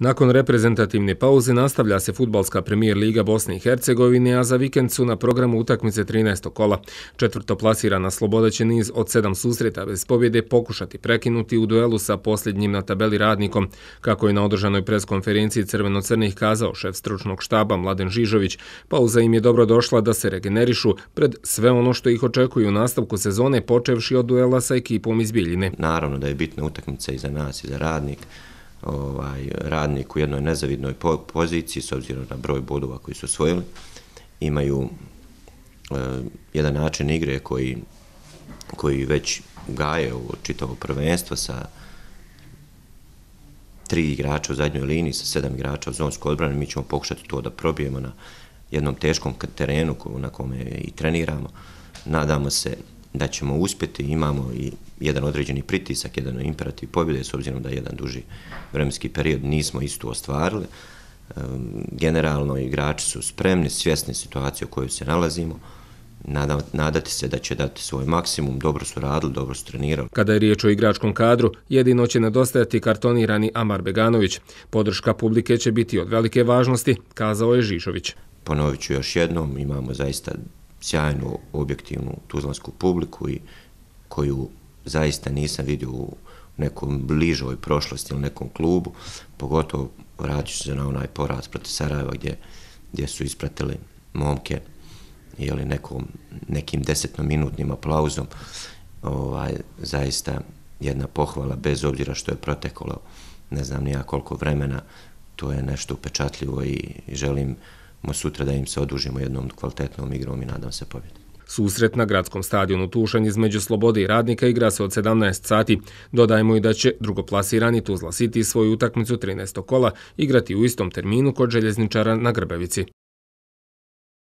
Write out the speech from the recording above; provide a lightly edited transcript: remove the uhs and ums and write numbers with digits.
Nakon reprezentativne pauze nastavlja se fudbalska premijer liga Bosne i Hercegovine, a za vikend su na programu utakmice 13. kola. Četvrtoplasirana Sloboda će niz od 7 susreta bez pobjede pokušati prekinuti u duelu sa posljednjim na tabeli Radnikom. Kako je na održanoj preskonferenciji crveno-crnih kazao šef stručnog štaba Mladen Žižović, pauza im je dobro došla da se regenerišu pred sve ono što ih očekuje u nastavku sezone, počevši od duela sa ekipom iz Bijeljine. Naravno da je bitna utakmica i za nas i za Radnik. Radnik u jednoj nezavidnoj poziciji s obzirom na broj bodova koji su osvojili. Imaju jedan način igre koji već gaje u čitavo prvenstvo sa 3 igrača u zadnjoj liniji, sa 7 igrača u zonskoj odbrani. Mi ćemo pokušati to da probijemo na jednom teškom terenu na kome i treniramo. Nadamo se da ćemo uspjeti, imamo i jedan određeni pritisak, jedan imperativ pobjede, s obzirom da jedan duži vremenski period nismo isto ostvarili. Generalno igrači su spremni, svjesni situacije u kojoj se nalazimo. Nadati se da će dati svoj maksimum, dobro su radili, dobro su trenirali. Kada je riječ o igračkom kadru, jedino će nedostajati kartonirani Amar Beganović. Podrška publike će biti od velike važnosti, kazao je Žižović. Ponovit ću još jednom, imamo zaista sjajnu, objektivnu tuzlansku publiku i koju zaista nisam vidio u nekom bližoj prošlosti ili nekom klubu, pogotovo vratit ću se na onaj poraz protiv Sarajeva gdje su ispratili momke ili nekim 10-minutnim aplauzom. Zaista jedna pohvala, bez obzira što je proteklo ne znam nija koliko vremena, to je nešto upečatljivo i želimo sutra da im se odužimo jednom kvalitetnom igrom i nadam se pobjedi. Susret na gradskom stadionu Tušanj između Slobode i Radnika igra se od 17 sati. Dodajmo i da će drugoplasirani Tuzla City svoju utakmicu 13. kola igrati u istom terminu kod Željezničara na Grbavici.